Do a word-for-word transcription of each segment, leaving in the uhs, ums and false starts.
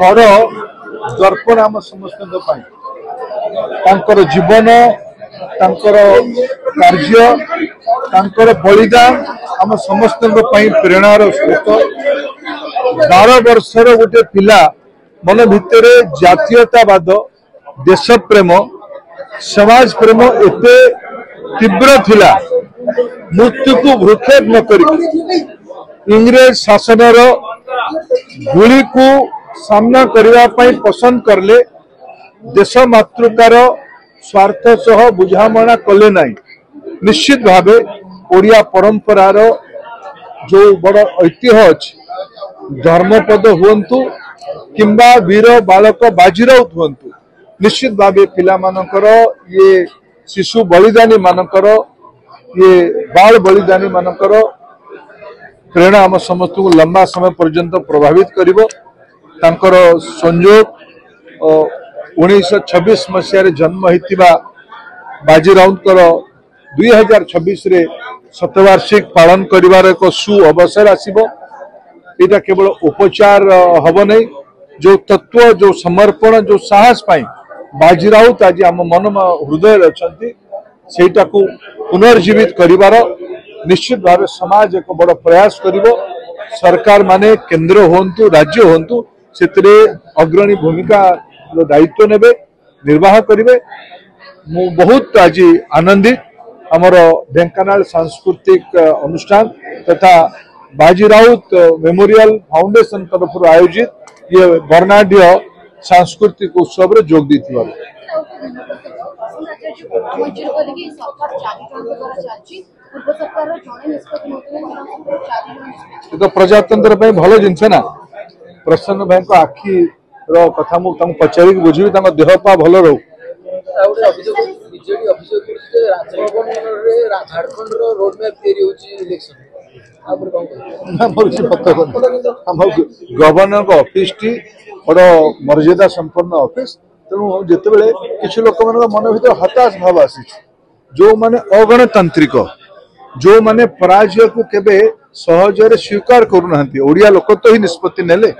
ବଡ଼ ଦର୍ପଣ ଆମ ସମସ୍ତଙ୍କ ପାଇଁ। ତାଙ୍କର ଜୀବନ, ତାଙ୍କର କାର୍ଯ୍ୟ, ତାଙ୍କର ବଳିଦାନ ଆମ ସମସ୍ତଙ୍କ ପାଇଁ ପ୍ରେରଣାର ସ୍ରୋତ। ବାର ବର୍ଷର ଗୋଟେ ପିଲା ମନ ଭିତରେ ଜାତୀୟତାବାଦ, ଦେଶପ୍ରେମ, ସମାଜ ପ୍ରେମ ଏତେ ତୀବ୍ର ଥିଲା, ମୃତ୍ୟୁକୁ ଭ୍ରୂକ୍ଷେପ ନ କରିକି ଇଂରେଜ ଶାସନର ଗୁଳିକୁ ସାମ୍ନା କରିବା ପାଇଁ ପସନ୍ଦ କଲେ, ଦେଶ ମାତୃକାର ସ୍ୱାର୍ଥ ସହ ବୁଝାମଣା କଲେ ନାହିଁ। ନିଶ୍ଚିତ ଭାବେ ଓଡ଼ିଆ ପରମ୍ପରାର ଯୋଉ ବଡ଼ ଐତିହ୍ୟ ଅଛି, ଧର୍ମପଦ ହୁଅନ୍ତୁ କିମ୍ବା ବୀର ବାଳକ ବାଜିରାଉତ ହୁଅନ୍ତୁ, ନିଶ୍ଚିତ ଭାବେ ପିଲାମାନଙ୍କର ଇଏ ଶିଶୁ ବଳିଦାନୀ ମାନଙ୍କର, ଇଏ ବାଳ ବଳିଦାନୀ ମାନଙ୍କର ପ୍ରେରଣା ଆମ ସମସ୍ତଙ୍କୁ ଲମ୍ବା ସମୟ ପର୍ଯ୍ୟନ୍ତ ପ୍ରଭାବିତ କରିବ। ତାଙ୍କର ସଂଯୋଗ ଉଣେଇଶହ ଛବିଶ ମସିହାରେ ଜନ୍ମ ହୋଇଥିବା ବାଜି ରାଉତଙ୍କର ଦୁଇ ହଜାର ଛବିଶରେ ଶତବାର୍ଷିକ ପାଳନ କରିବାର ଏକ ସୁ ଅବସର ଆସିବ। ଏଇଟା କେବଳ ଉପଚାର ହବ ନାହିଁ। ଯୋଉ ତତ୍ତ୍ୱ, ଯୋଉ ସମର୍ପଣ, ଯୋଉ ସାହସ ପାଇଁ ବାଜି ରାଉତ ଆଜି ଆମ ମନ ହୃଦୟରେ ଅଛନ୍ତି, ସେଇଟାକୁ ପୁନର୍ଜୀବିତ କରିବାର ନିଶ୍ଚିତ ଭାବେ ସମାଜ ଏକ ବଡ଼ ପ୍ରୟାସ କରିବ। ସରକାର ମାନେ କେନ୍ଦ୍ର ହୁଅନ୍ତୁ, ରାଜ୍ୟ ହୁଅନ୍ତୁ, ସେଥିରେ ଅଗ୍ରଣୀ ଭୂମିକା ଦାୟିତ୍ୱ ନେବେ, ନିର୍ବାହ କରିବେ। ମୁଁ ବହୁତ ଆଜି ଆନନ୍ଦିତ। ଆମର ଢେଙ୍କାନାଳ ସାଂସ୍କୃତିକ ଅନୁଷ୍ଠାନ ତଥା ବାଜି ରାଉତ ମେମୋରିଆଲ ଫାଉଣ୍ଡେସନ ତରଫରୁ ଆୟୋଜିତ ଇଏ ବର୍ଣ୍ଣାଢ୍ୟ ସାଂସ୍କୃତିକ ଉତ୍ସବରେ ଯୋଗ ଦେଇଥିବାରୁ। ଏ ତ ପ୍ରଜାତନ୍ତ୍ର ପାଇଁ ଭଲ ଜିନିଷ ନା। ପ୍ରସନ୍ନ ଭାଇଙ୍କ ଆଖିର କଥା ମୁଁ ତାଙ୍କୁ ପଚାରିକି ବୁଝିବି, ତାଙ୍କ ଦେହ ପା ଭଲ ରହୁ। ଆଉ ଗୋଟେ ଅଭିଯୋଗ, ବିଜେଡି ଅଭିଯୋଗ କରୁଛି ଯେ ରାଜଭବନରେ ଝାଡଖଣ୍ଡର ରୋଡ ମ୍ୟାପ୍ ତିଆରି ହଉଛି ଇଲେକ୍ସନ। ତାପରେ କଣ କହିବେ? ନା, ମୋର କିଛି ମତ ନାହିଁ। ଆମ ଗଭର୍ଣ୍ଣରଙ୍କ ଅଫିସଟି ବଡ଼ ମର୍ଯ୍ୟାଦା ସମ୍ପନ୍ନ ଅଫିସ। ତେଣୁ ଯେତେବେଳେ କିଛି ଲୋକମାନଙ୍କ ମନ ଭିତରେ ହତାଶ ଭାବ ଆସିଛି, ଯୋଉମାନେ ଅଗଣତାନ୍ତ୍ରିକ, ଯୋଉମାନେ ପରାଜୟକୁ କେବେ ସହଜରେ ସ୍ୱୀକାର କରୁନାହାନ୍ତି, ଓଡ଼ିଆ ଲୋକ ତ ହିଁ ନିଷ୍ପତ୍ତି ନେଲେ,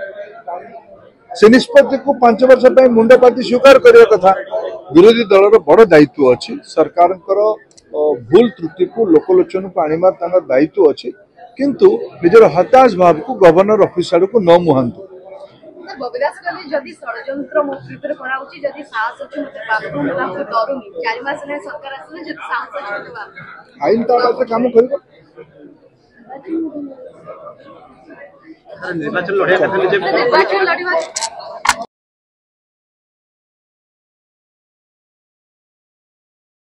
ସେ ନିଷ୍ପତ୍ତିକୁ ପାଞ୍ଚ ବର୍ଷ ପାଇଁ ମୁଣ୍ଡ ପାତି ସ୍ୱୀକାର କରିବା କଥା। ବିରୋଧୀ ଦଳର ବଡ଼ ଦାୟିତ୍ୱ ଅଛି, ସରକାରଙ୍କର ଭୁଲ ତ୍ରୁଟିକୁ ଲୋକଲୋଚନକୁ ଆଣିବାର ତାଙ୍କର ଦାୟିତ୍ୱ ଅଛି, କିନ୍ତୁ ନିଜର ହତାଶ ଭାବକୁ ଗଭର୍ଣ୍ଣର ଅଫିସ ଆଡ଼କୁ ନ ମୁହାନ୍ତୁ। ବବି ଦାସ କହିଲେ ଯଦି ଷଡ଼ଯନ୍ତ୍ର ମୋ ବିରୁଦ୍ଧରେ କରାହଉଛି, ଯଦି ସାହସ ଅଛି ମତେ ବାବୁ, ମୁଁ କାହାକୁ ଡରୁନି। ଚାରି ମାସ ହେଲାଣି ସରକାର ଆସିଲେ, ଯଦି ସାହସ ଅଛି ମତେ ବାବୁ। ଆଇନ ତା ବାଟରେ କାମ କରିବ। ନିର୍ବାଚନ ଲଢିବା କଥା ନିଜେ ନିର୍ବାଚନ ଲଢିବା